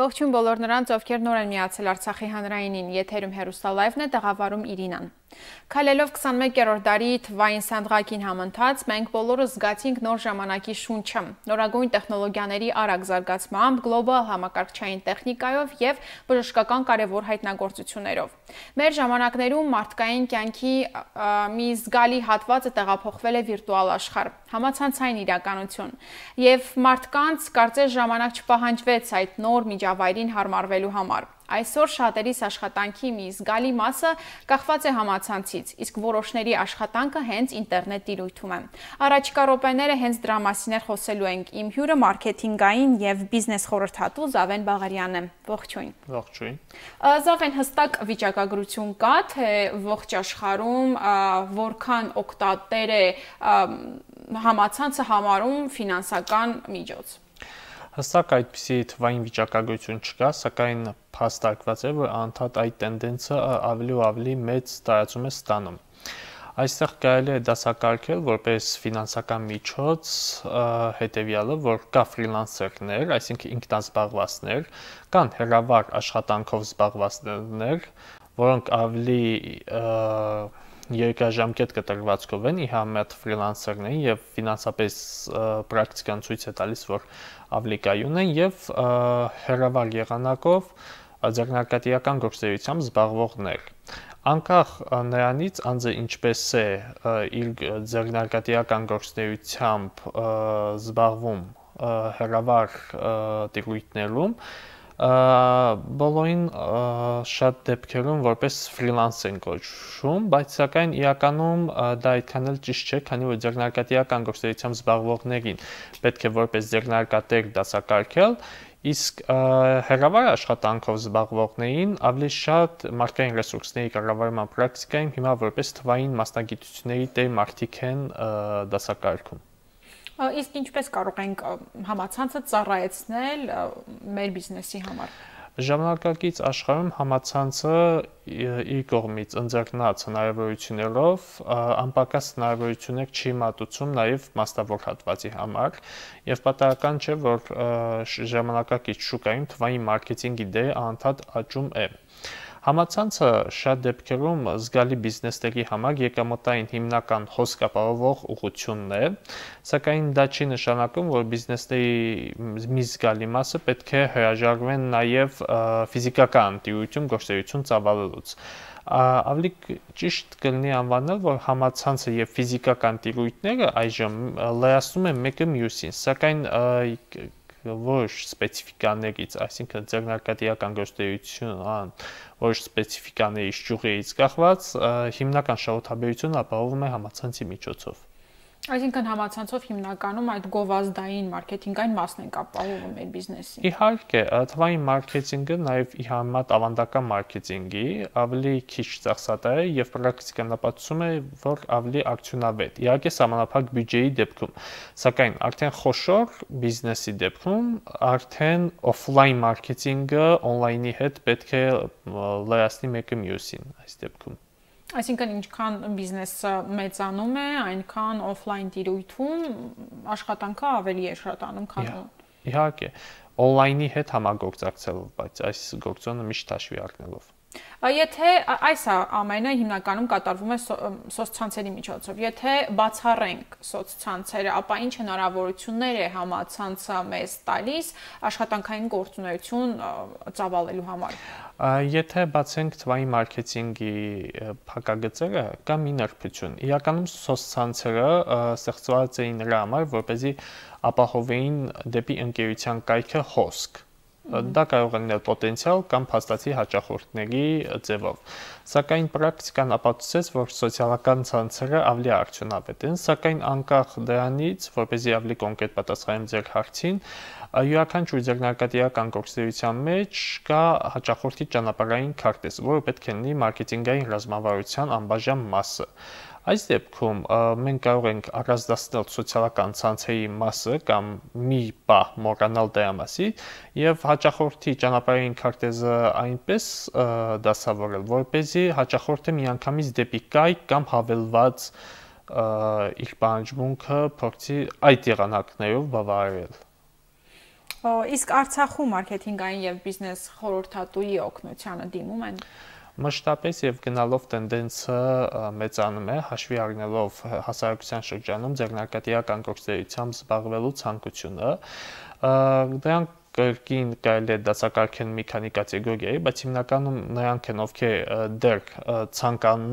Ողջույն բոլոր նրանց, ովքեր նոր են միացել Արցախի հանրայինին, եթերում հեռուստալայվն է, տաղավարում Իրինան։ Քայլելով 21-րդ դարի թվային սանդղակին համընթաց, մենք բոլորս զգացինք նոր ժամանակի շունչը, նորագույն տեխնոլոգիաների արագ զարգացմամբ, գլոբալ համակարգչային տեխնիկայով և բժշկական կարևոր հայտնագործություններով։ Մեր ժամանակներում մարդկային կյանքի մի զգալի հատվածը տեղափոխվել է վիրտուալ աշխարհ, համացանցային իրականություն, և մարդկանց կարծես ժամանակ չպահանջվեց այդ նոր միջավայրին հարմարվելու համար։ Այսօր շատերիս աշխատանքի մի զգալի մասը կախված է համացանցից, իսկ որոշների աշխատանքը հենց ինտերնետ տիրույթում է։ Առաջիկա րոպեները հենց դրա մասին խոսելու ենք։ Իմ հյուրը մարքեթինգային և բիզնես խորհրդատու Զավեն Բաղարյանն է։ Ողջույն։ Ողջույն։ Զավեն, հստակ վիճակագրություն կա, թե ողջ աշխարհում որքան օգտատեր է համացանցը համարում ֆինանսական միջոց։ Հստակ այդպիսի թվային վիճակագրություն չկա, սակայն փաստարկված է, որ անդադ այդ տենդենսը ավելի ու ավելի մեծ տարածում է ստանում։ Այստեղ կարելի է դասակարգել որպես ֆինանսական միջոց հետևյալը, որ կա ֆրիլանսերներ, այսինքն ինքնազբաղվածներ, կան հեռավար աշխատանքով զբաղվածներ, որոնք ավելի երկարաժամկետ կտրվածքով են, ի համեմատ ֆրիլանսերներին եւ ֆինանսապես պրակտիկան ցույց է տալիս, որ ավելի կայուն են եւ հեռավար եղանակով ձեռնարկատիրական գործունեությամբ զբաղվողներ։ Անկախ նրանից անձը ինչպես է իր ձեռնարկատիրական գործունեությամբ զբաղվում հեռավար տիրույթներում, բոլորին շատ դեպքերում որպես ֆրիլանս են կոչվում, բայց սակայն իրականում դա այդքան էլ ճիշտ չէ, քանի որ ձեռնարկատիրական գործունեությամբ զբաղվողներին պետք է որպես ձեռնարկատեր դասակարգել, իսկ հեռավար աշխատանքով զբաղվողներին ավելի շատ մարդկային ռեսուրսների կառավարման պրակտիկայում հիմա որպես թվային մասնագիտությունների տեր մարդիկ են դասակարգում։ Իսկ ինչպես կարող ենք համացանցը ծառայեցնել մեր բիզնեսի համար։ Ժամանակակից աշխարհում համացանցը իր կողմից ընձեռնած հնարավորություններով անպակաս հնարավորություններ չի մատուցում նաև մասնավոր հատվածի համար, եւ պատահական չէ, որ ժամանակակից շուկայում թվային մարքեթինգի դերը անդադ աճում է։ Համացանցը շատ դեպքերում զգալի բիզնեսների համար եկամտային հիմնական հոսք ապահովող ուղղությունն է, սակայն դա չի նշանակում, որ բիզնեսների մի զգալի մասը պետք է հրաժարվեն նաև ֆիզիկական տիրույթում գործունեություն ծավալելուց։ Ավելի ճիշտ կլինի անվանել, որ համացանցը եւ ֆիզիկական տիրույթները այժմ լրացնում են մեկը մյուսին, սակայն որոշ սպეციფიკաներից, այսինքն ձեռնարկատիրական գործունեության որոշ սպეციფიკաներից ճյուղերից կախված հիմնական շահութաբերությունը ապահովում է համացանցի միջոցով։ Այսինքն համացանցով հիմնականում այդ գովազդային մարքեթինգային մասն ենք ապահովում մեր բիզնեսի։ Իհարկե, թվային մարքեթինգը նաև ի համեմատ ավանդական մարքեթինգի ավելի քիչ ծախսատար է եւ պրակտիկան ապացուցում է, որ ավելի արդյունավետ։ Իհարկե, սահմանափակ բյուջեի դեպքում, սակայն արդեն խոշոր բիզնեսի դեպքում արդեն օֆլայն մարքեթինգը օնլայնի հետ պետք է լրացնի մեկը մյուսին այս դեպքում։ Այսինքն ինչքան բիզնեսը մեծանում է, այնքան օֆլայն տիրույթում աշխատանքը ավելի է շատանում, քան Իհարկե, օնլայնի հետ համագործակցելով, բայց այս գործոնը միշտ հաշվի առնելով։ Եթե այս ամենը հիմնականում կատարվում է սոցցանցերի միջոցով, եթե բացառենք սոցցանցերը, ապա ինչ հնարավորություններ է համացանցը մեզ տալիս աշխատանքային գործունեություն ծավալելու համար։ Եթե բացենք թվային մարքեթինգի փակագծերը, կա մի նրբություն։ Իրականում սոցցանցերը ստեղծված էին նրա համար, որպեսզի ապահովեին դեպի ընկերության կայքը հոսք։ Դա կարող է լինել պոտենցիալ կամ փաստացի հաճախորդների ձևով։ Սակայն պրակտիկան ապացուցեց, որ սոցիալական ցանցերը ավելի արդյունավետ են, սակայն անկախ դրանից, որպեսզի ավելի կոնկրետ պատասխանեմ ձեր հարցին, յուրաքանչյուր ձեռնարկատիրական գործունեության մեջ կա հաճախորդի ճանապարհային քարտեզ, որը պետք է լինի մարքեթինգային ռազմավարության անբաժան մասը։ Այս դեպքում մենք կարող ենք առանձնացնել սոցիալական ցանցերի մասը կամ մի պահ մոռանալ դրա մասին եւ հաճախորդի ճանապարհային քարտեզը այնպես դասավորել, որպեսզի հաճախորդը միանգամից դեպի կայք կամ հավելված իր պահանջմունքը փորձի այդ եղանակներով բավարարել։ Իսկ Արցախում մարքեթինգային եւ բիզնես խորհրդատուի օգնությանը դիմում են։ Մշտապես եւ գնալով տենդենսը մեծանում է, հաշվի առնելով հասարակության շրջանում ձեռնարկատիրական գործունեությամբ զբաղվելու ցանկությունը, դրանք կրկին կարելի է դասակարգել մի քանի կատեգորիայի, բայց հիմնականում նրանք են, ովքեր դեռ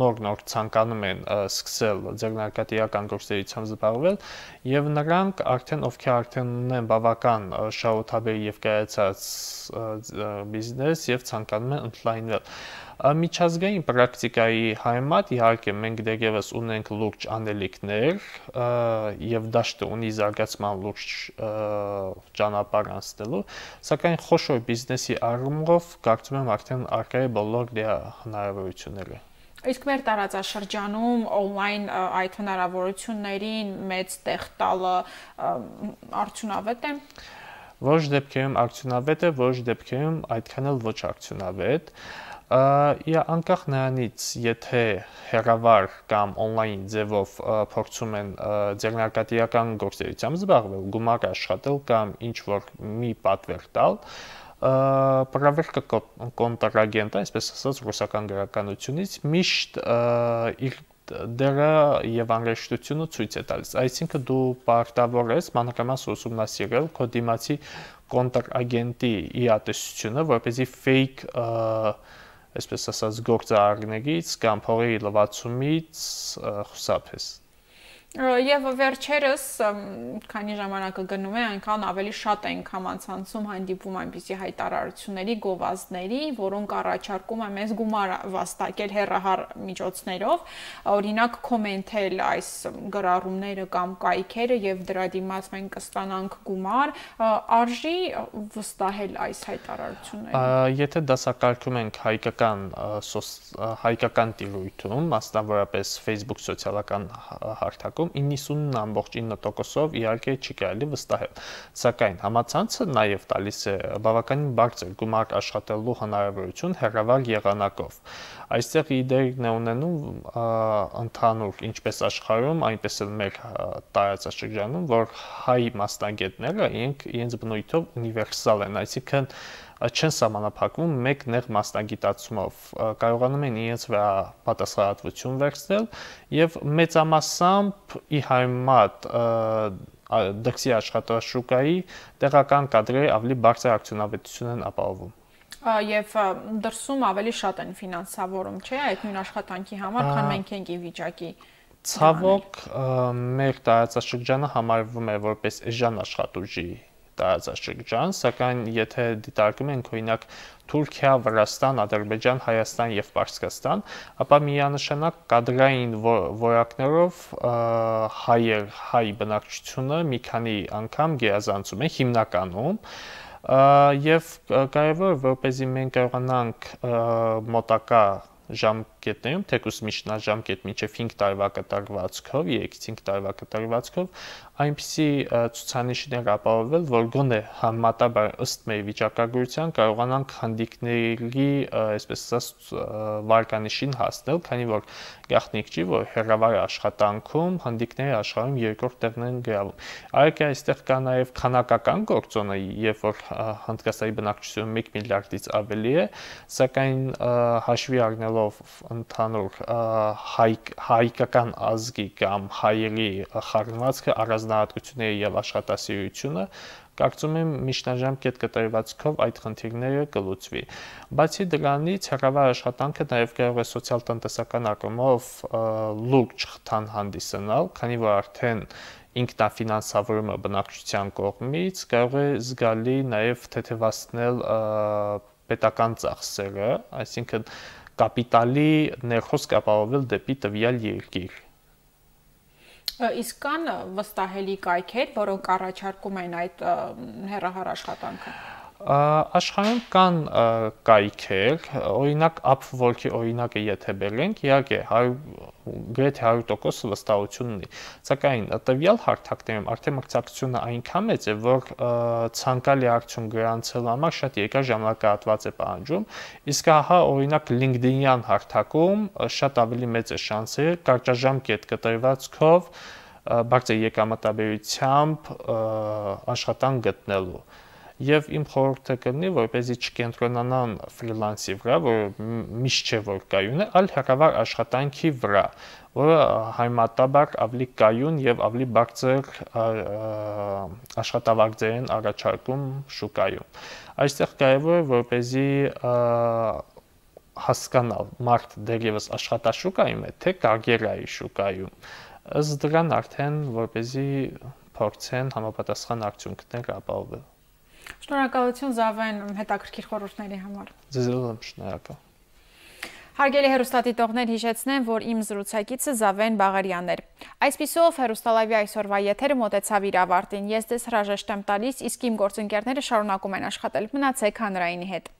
նոր ցանկանում են սկսել ձեռնարկատիրական գործունեությամբ զբաղվել, եւ նրանք ովքեր արդեն ունեն բավական շահութաբեր եւ կայացած բիզնես եւ ցանկանում են ընդլայնել։ Միջազգային պրակտիկայի համեմատ իհարկե մենք դեռևս ունենք լուրջ անելիքներ եւ դաշտը ունի զարգացման լուրջ ճանապարհ անցնելու, սակայն խոշոր բիզնեսի առումով կարծում եմ արդեն առկա է բոլոր դրա հնարավորությունները։ Իսկ մեր տարածաշրջանում on-line այդ հնարավորություններին մեծ տեղ տալը արդյունավետ է։ Ոչ դեպքերում արդյունավետ է, ոչ դեպքերում այդքան էլ ոչ արդյունավետ։ Անկախ նրանից, եթե հեռավար կամ on-line ձևով փորձում են ձեռնարկատիրական գործունեությամբ զբաղվել, գումար աշխատել կամ ինչ-որ մի պատվեր տալ, պրավերկա կոնտրագենտը, այսպես ասած ռուսական գրականությունից, միշտ իր դերը եւ անհրաժեշտությունը ցույց է տալիս։ Այսինքն դու պարտավոր ես մանրամասն ուսումնասիրել քո դիմացի կոնտրագենտի իրատեսությունը, որպեսզի fake այսպես ասած գործարարներից կամ փողերի լվացումից խուսափես։ Եվ վերջերս, քանի ժամանակը գնում է, այնքան ավելի շատ ենք համացանցում հանդիպում այնպիսի հայտարարությունների, գովազդների, որոնք առաջարկում են մեզ գումար վաստակել հեռահար միջոցներով, օրինակ կոմենտել այս գրառումները կամ կայքերը եւ դրա դիմաց մենք կստանանք գումար, արժի վստահել այս հայտարարություններին։ Եթե դասակարգում ենք հայկական տիրույթում, մասնավորապես Facebook սոցիալական հարթակում 99.9%-ով իհարկե չի կարելի վստահել, սակայն համացանցը նաև տալիս է բավականին բարձր գումար աշխատելու հնարավորություն հեռավար եղանակով։ Այստեղ իդեան է ունենում ընդհանուր ինչպես աշխարհում, այնպես էլ մեր տարածաշրջանում, որ հայ մասնագետները իրենց բնույթով ունիվերսալ են, այսինքն չեն սահմանափակվում մեկ նեղ մասնագիտացումով, կարողանում են իրենց վրա պատասխանատվություն վերցնել եւ մեծամասամբ ի համեմատ դրսի աշխատաշուկայի տեղական կադրերի ավելի բարձր արդյունավետություն են ապահովում։ Եվ դրսում ավելի շատ են ֆինանսավորում, չէ՞, այդ նույն աշխատանքի համար, քան մենք ենք ի վիճակի։ Ցավոք մեր տարածաշրջանը համարվում է որպես էժան աշխատուժի տարածաշրջան, սակայն եթե դիտարկում ենք օրինակ Թուրքիա, Վրաստան, Ադրբեջան, Հայաստան եւ Պարսկաստան, ապա միանշանակ կադրային որակներով հայ բնակչությունը մի քանի անգամ գերազանցում է հիմնականում եւ կարեւոր որպեսզի մենք կարողանանք մոտակա ժամկետներում, թեկուզ միջնաժամկետ մինչև 5 տարվա կտրվածքով, 3-5 տարվա կտրվածքով այնպիսի ցուցանիշներ ապահովել, որ գոնե համեմատաբար ըստ մեր վիճակագրության կարողանանք հանդիկների, այսպես ասած, վարկանիշին հասնել, քանի որ գաղտնիք չի, որ հեռավար աշխատանքում հանդիկները աշխարհում երկրորդ տեղն են գրավում։ Այլ այստեղ կա նաև քանակական գործոնը, երբ որ Հնդկաստանի բնակչությունը 1 միլիարդից ավելի է, սակայն հաշվի առնելով ընդհանուր հայկական ազգի կամ հայերի խառնվածքը, առանձնահատկությունները եւ աշխատասիրությունը, կարծում եմ միջնաժամկետ կտրվածքով այդ խնդիրները կլուծվի։ Բացի դրանից հեռավար աշխատանքը նաև կարող է սոցիալ-տնտեսական առումով լուրջ խթան հանդիսանալ, քանի որ արդեն ինքնաֆինանսավորումը բնակչության կողմից կարող է զգալի նաև թեթևացնել պետական ծախսերը, այսինքն կապիտալի ներխոսք ապահովել դեպի տվյալ երկիր։ Իսկ կան վստահելի կայքեր, որոնք առաջարկում են այդ հեռահար աշխատանքը։ Աշխարհում կան կայքեր, օրինակ Upwork-ի օրինակը եթե բերենք, իհարկե գրեթե 100% վստահություն ունի, սակայն տվյալ հարթակներում արդեն մրցակցությունը այնքան մեծ է, որ ցանկալի արդյունք գրանցելու համար շատ երկար ժամանակահատված է պահանջում, իսկ ահա օրինակ LinkedIn-յան հարթակում շատ ավելի մեծ է շանսերը կարճաժամկետ կտրվածքով բարձր եկամտաբերությամբ աշխատանք գտնելու։ եւ իմ խորհուրդը կլինի, որպեսզի չկենտրոնանան ֆրիլանսի վրա, որը միշտ չէ որ կայուն է, այլ հեռավար աշխատանքի վրա, որը համեմատաբար ավելի կայուն եւ ավելի բարձր աշխատավարձեր են առաջարկում շուկայում։ Այստեղ կարևոր է որպեսզի հասկանալ մարդ դեռևս աշխատաշուկայում է, թե կարիերայի շուկայում։ Ըստ դրան արդեն որպեսզի փորձեն համապատասխան արդյունքներ ապահովել։ Շնորհակալություն Զավեն հետաքրքիր խորհուրդների համար։ Ձեզ եմ շնորհակալ։ Հարգելի հեռուստադիտողներ, հիշեցնեմ, որ իմ զրուցակիցը Զավեն Բաղարյանն էր։ Այսպիսով Հեռուստալայվի այսօրվա եթերը մոտեցավ իր ավարտին։ Ես ձեզ հրաժեշտ եմ տալիս, իսկ իմ գործընկերները շարունակում են աշխատել։ Մնացեք հանրայինի հետ։